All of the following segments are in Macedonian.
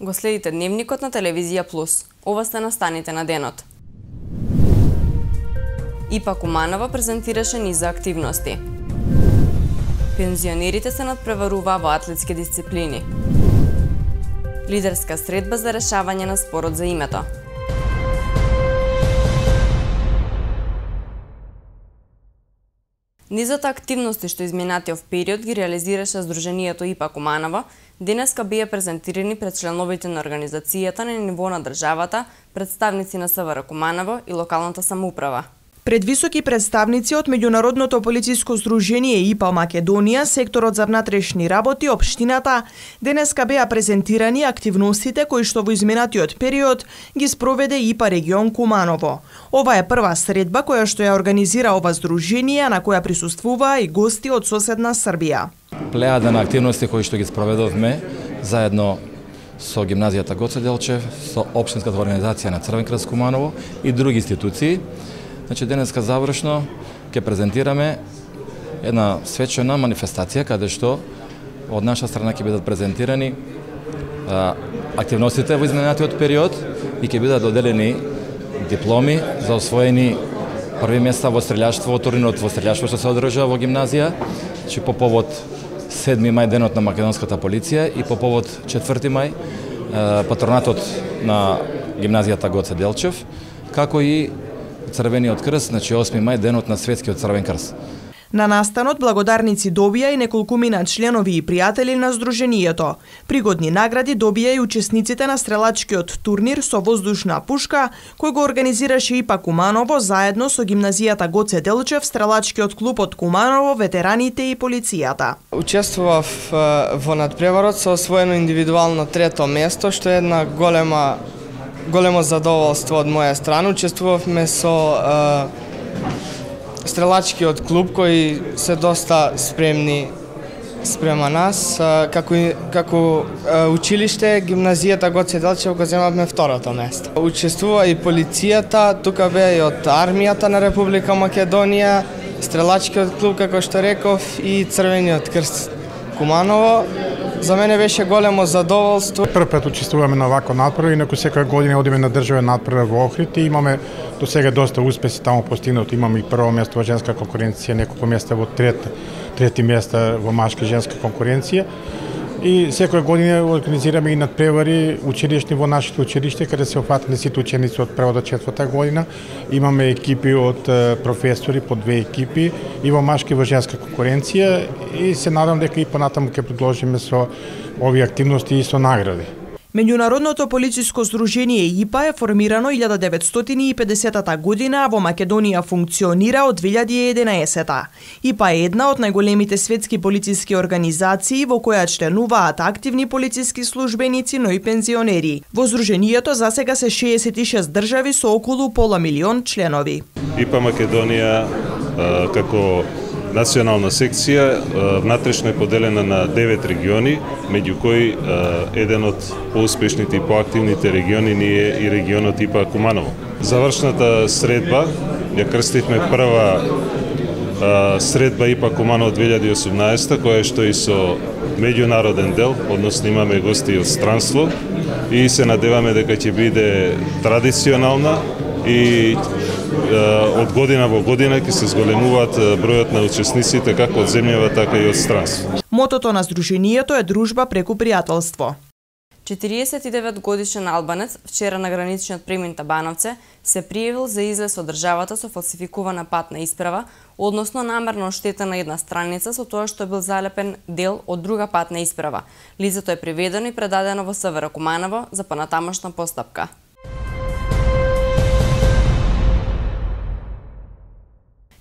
Го следите Дневникот на Телевизија Плюс. Ова сте настаните на денот. ИПА Куманово презентираше низа активности. Пензионерите се надпреваруваа во атлетски дисциплини. Лидерска средба за решавање на спорот за името. Низот активности што изминатиот период ги реализираше Сдруженијето ИПА Куманово, денеска беа презентирани пред членовите на организацијата на ниво на државата, представници на СВР Куманово и локалната самоуправа. Пред високи представници од Меѓународното полициско сдружение ИПА Македонија, секторот за внатрешни работи, општината, денеска беа презентирани активностите кои што во изминатиот период ги спроведе ИПА регион Куманово. Ова е прва средба која што ја организира ова сдружение, на која присуствуваа и гости од соседна Србија. Плејада на активности кои што ги спроведовме заедно со гимназијата Гоце Делчев, со општинската организација на Црвен крст Куманово и други институции. Значи, денеска завршно ќе презентираме една свечена манифестација каде што од наша страна ќе бидат презентирани активностите во изминатиот период и ќе бидат доделени дипломи за освоени први места во стрелјаштво, турнирот во стрелјаштво што се одржа во гимназија, значи по повод 7 мај денот на македонската полиција и по повод 4 мај патронатот на гимназијата Гоце Делчев, како и Црвениот крст, значи 8 мај денот на светскиот Црвен крст. На настанот благодарници добија и неколкумина членови и пријатели на Сдруженијето. Пригодни награди добија и учесниците на стрелачкиот турнир со воздушна пушка, кој го организираше ИПА Куманово заедно со гимназијата Гоце Делчев, стрелачкиот клуб од Куманово, ветераните и полицијата. Учествував во надпреварот со освоено индивидуално трето место, што е една големо задоволство од моја страна. Учествувавме со стрелачкиот клуб кои се доста спремни спрема нас. Како училиште, гимназијата Гоце Делчев го земавме второто место. Учествува и полицијата, тука беа и од армијата на Република Македонија, стрелачкиот клуб, како што реков, и Црвениот крст Куманово. За мене беше големо задоволство. Прв пат учествуваме на вакво надпревар, инаку секоја година одиме на државен надпревар во Охрид и имаме до сега доста успеси таму постигнати. Имаме и прво место во женска конкуренција, неколку места во трети места во машка женска конкуренција. И секоја година организираме и надпревари училишни во нашите училиште, каде се опфатени сите ученици од прва до четврта година. Имаме екипи од професори, по 2 екипи, и во машка и во женска конкуренција, и се надам дека и понатаму ќе продолжиме со овие активности и со награди. Меѓународното полициско сдружение ИПА е формирано 1950 година, а во Македонија функционира од 2011. ИПА е една од најголемите светски полициски организации во која членуваат активни полициски службеници, но и пензионери. Во сдруженијето засега се 66 држави со околу пола милион членови. ИПА Македонија како национална секција внатрешно е поделена на 9 региони, меѓу кои еден од поуспешните и поактивните региони ни е и регионот ИПА Куманово. Завршната средба ја крстивме прва средба ИПА Куманово 2018, која што и со меѓународен дел, односно имаме гости од странство и се надеваме дека ќе биде традиционална и од година во година ќе се зголемуваат бројот на учесниците како од земјава, така и од странство. Мотото на сдруженијето е дружба преку пријателство. 49 годишен албанец вчера на граничниот премин Табановце се пријавил за излез од државата со фалсификувана патна исправа, односно намерно оштетена една страница со тоа што бил залепен дел од друга патна исправа. Лицето е приведено и предадено во СВР Куманово за понатамошна постапка.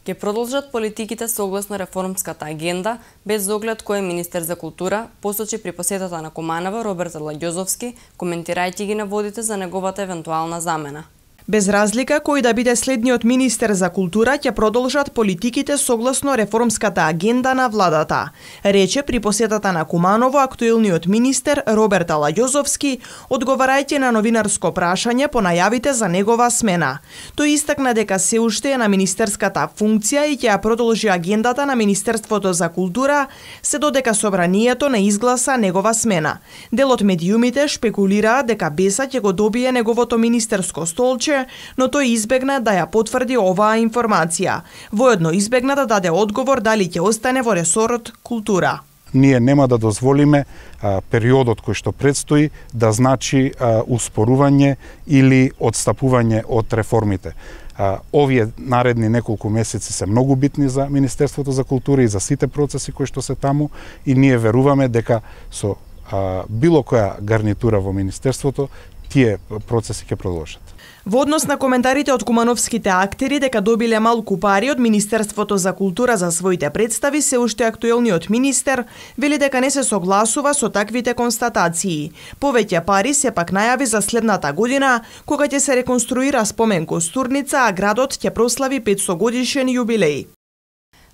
Ќе продолжат политиките согласно реформската агенда, без оглед кој е министер за култура, посочи при посетата на Куманово Роберт Лагјозовски, коментирајќи ги наводите за неговата евентуална замена. Без разлика кој да биде следниот министер за култура, ќе продолжат политиките согласно реформската агенда на владата, рече при посетата на Куманово актуелниот министер Роберт Алајозовски, одговарајќи на новинарско прашање по најавите за негова смена. Тој истакна дека се уште е на министерската функција и ќе ја продолжи агендата на Министерството за култура, се додека собранието не изгласа негова смена. Дел од медиумите шпекулираа дека Беса ќе го добие неговото министерско столче, но тој избегна да ја потврди оваа информација. Воедно избегна да даде одговор дали ќе остане во ресорот култура. Ние нема да дозволиме периодот кој што предстои да значи успорување или одстапување од реформите. Овие наредни неколку месеци се многу битни за Министерството за култура и за сите процеси кои што се таму и ние веруваме дека со било која гарнитура во Министерството тие процеси ќе продолжат. Во однос на коментарите од кумановските актери дека добиле малку пари од Министерството за култура за своите представи, се уште актуелниот министер вели дека не се согласува со таквите констатации. Повеќе пари сепак најави за следната година, кога ќе се реконструира спомен костурница, а градот ќе прослави 500 годишен јубилеј.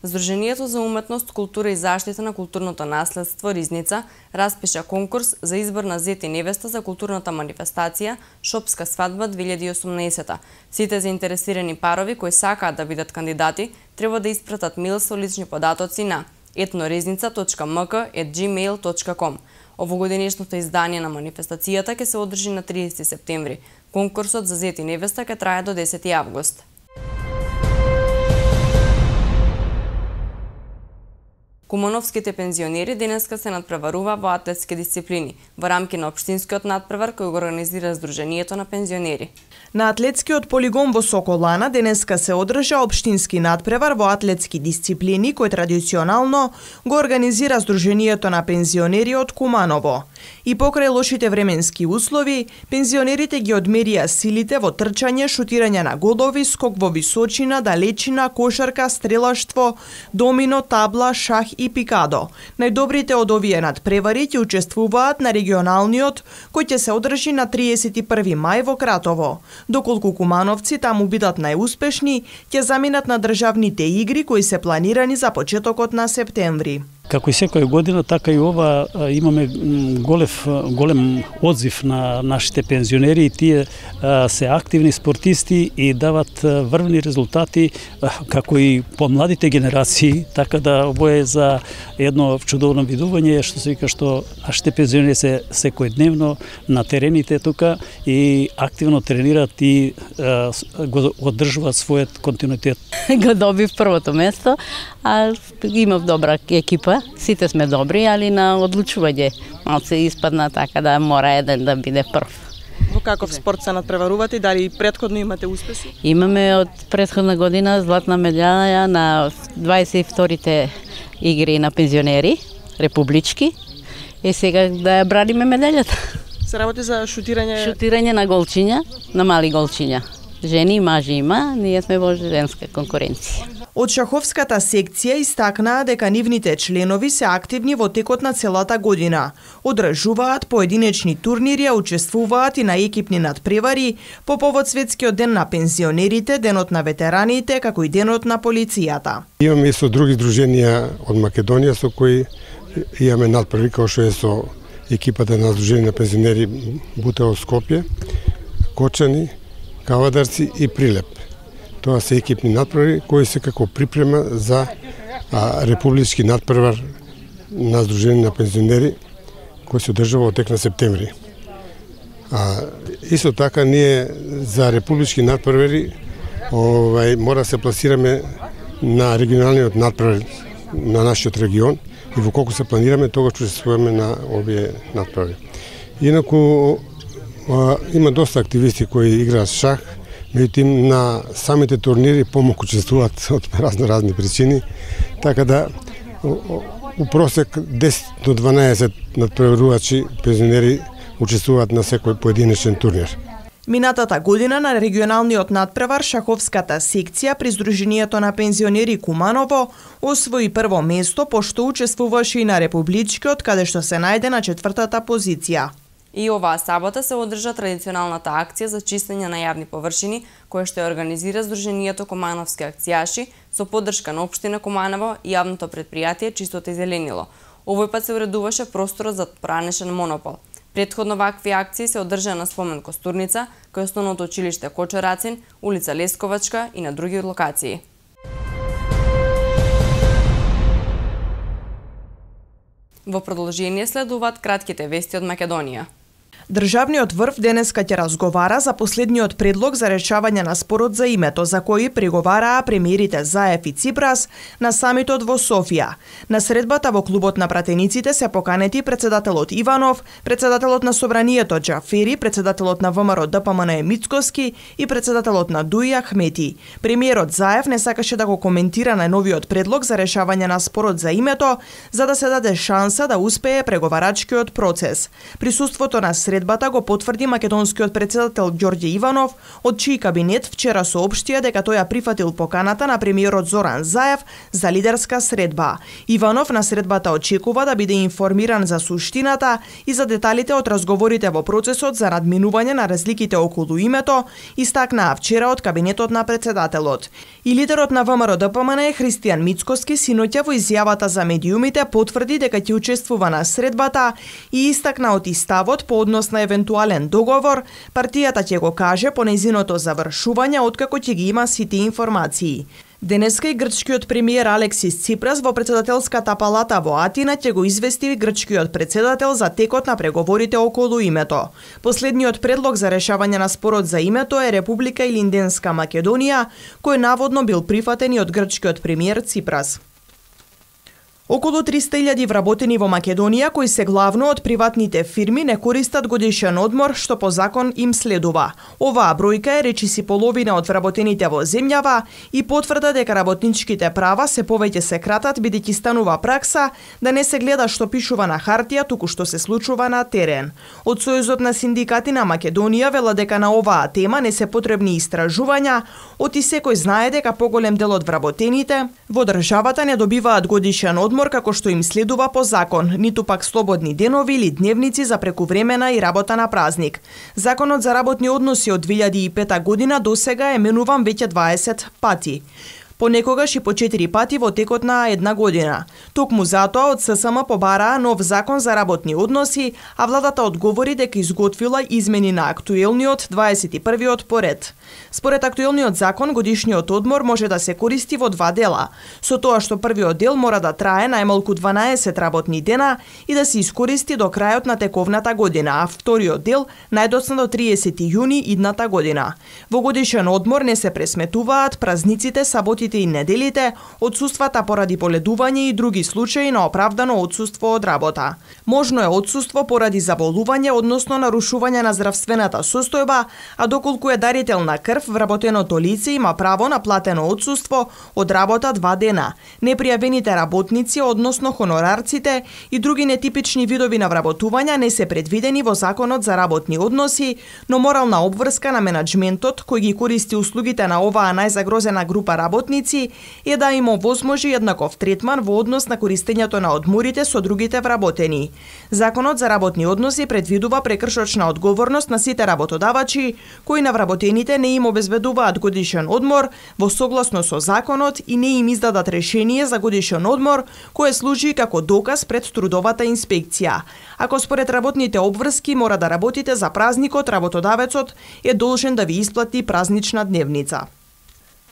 Сдруженијето за уметност, култура и заштита на културното наследство Ризница распиша конкурс за избор на зет и невеста за културната манифестација Шопска свадба 2018. Сите заинтересирани парови кои сакаат да бидат кандидати треба да испратат мејл со лични податоци на etnoriznica.mk@gmail.com. Овогодинешното издание на манифестацијата ќе се одржи на 30 септември. Конкурсот за зет и невеста ќе трае до 10 август. Кумановските пензионери денеска се надпреварува во атлетски дисциплини во рамки на општинскиот надпревар кој го организира Сдруженијето на пензионери. На атлетскиот полигон во Соколана денеска се одржа општински надпревар во атлетски дисциплини кој традиционално го организира Сдруженијето на пензионери од Куманово. И покрај лошите временски услови, пензионерите ги одмерија силите во трчање, шутирање на голови, скок во височина, далечина, кошарка, стрелаштво, домино, табла, шах и пикадо. Најдобрите од овие надпревари ќе учествуваат на регионалниот, кој ќе се одржи на 31 мај во Кратово. Доколку кумановци таму бидат најуспешни, ќе заминат на државните игри кои се планирани за почетокот на септември. Како и секоја година, така и ова имаме голем одзив на нашите пензионери и тие се активни спортисти и дават врвни резултати како и помладите генерации, така да ово е за едно чудовно видување што се вика што нашите пензионери се секојдневно на терените тука и активно тренираат и го одржуваат својот континуитет. Го добив првото место, а имав добра екипа. Сите сме добри, али на одлучување малце испадна, така да мора еден да биде прв. Во каков спорт се надпреварувате и дали претходно имате успеси? Имаме од претходна година златна медаља на 22-те игри на пензионери, републички, и сега да ја браниме медаљата. Се работи за шутирање? Шутирање на голчиња, на мали голчиња. Жени и мажи има, ние сме во женска конкуренција. Од шаховската секција истакнаа дека нивните членови се активни во текот на целата година. Одржуваат поединечни турнири, учествуваат и на екипни надпревари по повод Светскиот ден на пензионерите, денот на ветераните, како и денот на полицијата. Имаме и со други здруженија од Македонија со кои имаме надпревари, како што е со екипата на Сдружение на пензионери Бутево Скопје, Кочани, Кавадарци и Прилеп. Тоа се екипни надпревари кои се како припрема за републички надпревар на Сдружение на пензионери кој се одржува во тек на септември. Исто така ние за републички надпревари мора да се пласираме на регионалниот надпревар на нашиот регион и во колку се планираме тогаш ќе учествуваме на овие надпревари. Инаку има доста активисти кои играат шах, меѓутоа на самите турнири помалку учествуваат од разни причини, така да у просек 10 до 12 надпреварувачи пензионери учествуваат на секој поединечен турнир. Минатата година на регионалниот надпревар шаховската секција при Сдруженијето на пензионери Куманово освои прво место, пошто учествуваше и на републичкиот, каде што се најде на 4-та позиција. И оваа сабота се одржа традиционалната акција за чистење на јавни површини, која што ја организира Сдруженијето Комановски акцијаши со поддршка на општина Команово и јавното предпријатие Чистото и зеленило. Овој пат се уредуваше просторот за поранешен монопол. Претходно вакви акции се одржаа на спомен Костурница, кај основното училиште Кочорацин, улица Лесковачка и на други локации. Во продолжение следуваат кратките вести од Македонија. Државниот врв денеска ќе разговара за последниот предлог за решавање на спорот за името за кој преговараа премиерите Заев и Ципрас на самитот во Софија. На средбата во клубот на пратениците се поканети председателот Иванов, председателот на Собранието Џафери, председателот на ВМРО ДПМН Мицкоски и председателот на ДУИ Ахмети. Премиерот Заев не сакаше да го коментира најновиот предлог за решавање на спорот за името, за да се даде шанса да успее преговарачкиот процес. Присуството на средбата го потврди македонскиот председател Ѓорѓе Иванов, од чиј кабинет вчера соопштија дека тој ја прифатил поканата на премиерот Зоран Заев за лидерска средба. Иванов на средбата очекува да биде информиран за суштината и за деталите од разговорите во процесот за надминување на разликите околу името, истакнаа вчера од кабинетот на председателот. И лидерот на ВМРО ДПМН Христијан Мицкоски синоќа во изјавата за медиумите потврди дека ќе учествува на средбата и истакна од ставот по однос на евентуален договор, партијата ќе го каже по нејзиното завршување откако ќе ги има сите информации. Денеска и грчкиот премиер Алексис Ципрас во председателската палата во Атина ќе го извести грчкиот председател за текот на преговорите околу името. Последниот предлог за решавање на спорот за името е Република Илинденска Македонија, кој наводно бил прифатен и од грчкиот премиер Ципрас. Околу 300.000 вработени во Македонија, кои се главно од приватните фирми, не користат годишен одмор, што по закон им следува. Оваа бројка е речиси половина од вработените во земјава и потврда дека работничките права се повеќе се кратат, бидејќи станува пракса да не се гледа што пишува на хартија, туку што се случува на терен. Од Сојузот на синдикати на Македонија велат дека на оваа тема не се потребни истражувања, оти секој знае дека поголем дел од вработените во државата не добиваат годишен одмор како што им следува по закон, ниту пак слободни денови или дневници за прекувремена и работа на празник. Законот за работни односи од 2005 година досега е менуван веќе 20 пати. Понекогаш и по 4 пати во текот на една година. Токму затоа од ССМ побараа нов закон за работни односи, а владата одговори дека изготвила измени на актуелниот 21-виот поред. Според актуелниот закон, годишниот одмор може да се користи во два дела, со тоа што првиот дел мора да трае најмалку 12 работни дена и да се искористи до крајот на тековната година, а вториот дел најдоцна до 30 јуни идната година. Во годишен одмор не се пресметуваат празниците, саботите и неделите, отсуствата поради боледување и други случаи на оправдано отсуство од работа. Можно е отсуство поради заболување, односно нарушување на здравствената состојба, а доколку е дарител на крв, вработеното лице има право на платено отсуство од работа 2 дена. Непријавените работници, односно хонорарците и други нетипични видови на вработувања не се предвидени во Законот за работни односи, но морална обврска на менаџментот кој ги користи услугите на оваа најзагрозена група работници е да им овозможи еднаков третман во однос на користењето на одморите со другите вработени. Законот за работни односи предвидува прекршочна одговорност на сите работодавачи кои на вработените не им обезбедуваат годишен одмор во согласно со законот и не им издадат решение за годишен одмор кое служи како доказ пред трудовата инспекција. Ако според работните обврски мора да работите за празникот, работодавецот е должен да ви исплати празнична дневница.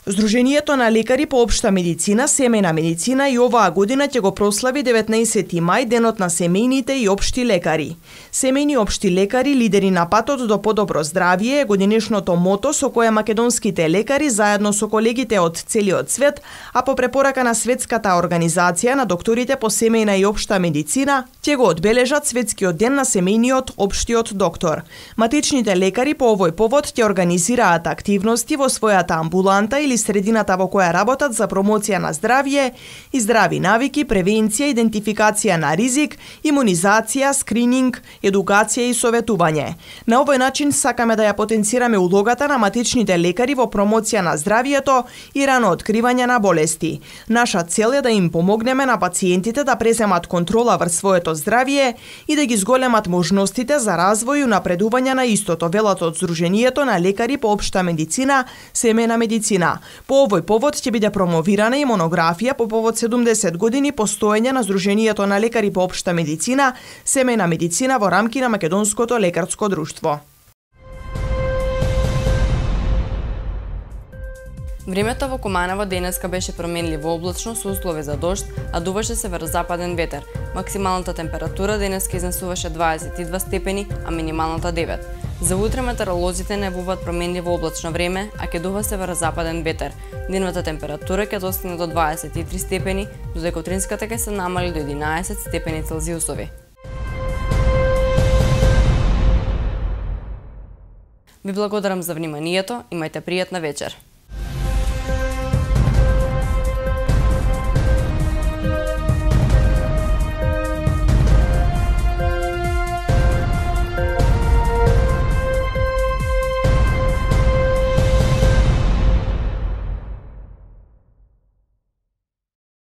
Сдруженијето на лекари по општа медицина, семејна медицина и оваа година ќе го прослави 19 мај денот на семејните и општи лекари. Семејни општи лекари, лидери на патот до подобро здравје е годинешното мото со кое македонските лекари заедно со колегите од целиот свет, а по препорака на Светската организација на докторите по семејна и општа медицина, ќе го одбележат Светскиот ден на семејниот општиот доктор. Матичните лекари по овој повод ќе организираат активности во својата амбуланта или или средината во која работат за промоција на здравје и здрави навики, превенција, идентификација на ризик, имунизација, скрининг, едукација и советување. На овој начин сакаме да ја потенцираме улогата на матичните лекари во промоција на здравјето и рано откривање на болести. Наша цел е да им помогнеме на пациентите да преземат контрола врз своето здравје и да ги зголемат можностите за развој и напредување на истото, велат од Сдруженијето на лекари по општа медицина, семејна медицина. По овој повод ќе биде промовирана и монографија по повод 70 години постоење на Сдруженијето на лекари по општа медицина, семејна медицина во рамки на Македонското лекарско друштво. Времето во Куманово денеска беше променливо облачно со услови за дожд, а дуваше северозападен ветер. Максималната температура денеска изнесуваше 22 степени, а минималната 9. За утре метеоролозите најавуваат променливо облачно време, а ќе дува северозападен ветер. Денната температура ќе достигне до 23 степени, додека утринската ќе се намали до 11 степени Целзиусови. Ви благодарам за вниманието, имајте пријатна вечер.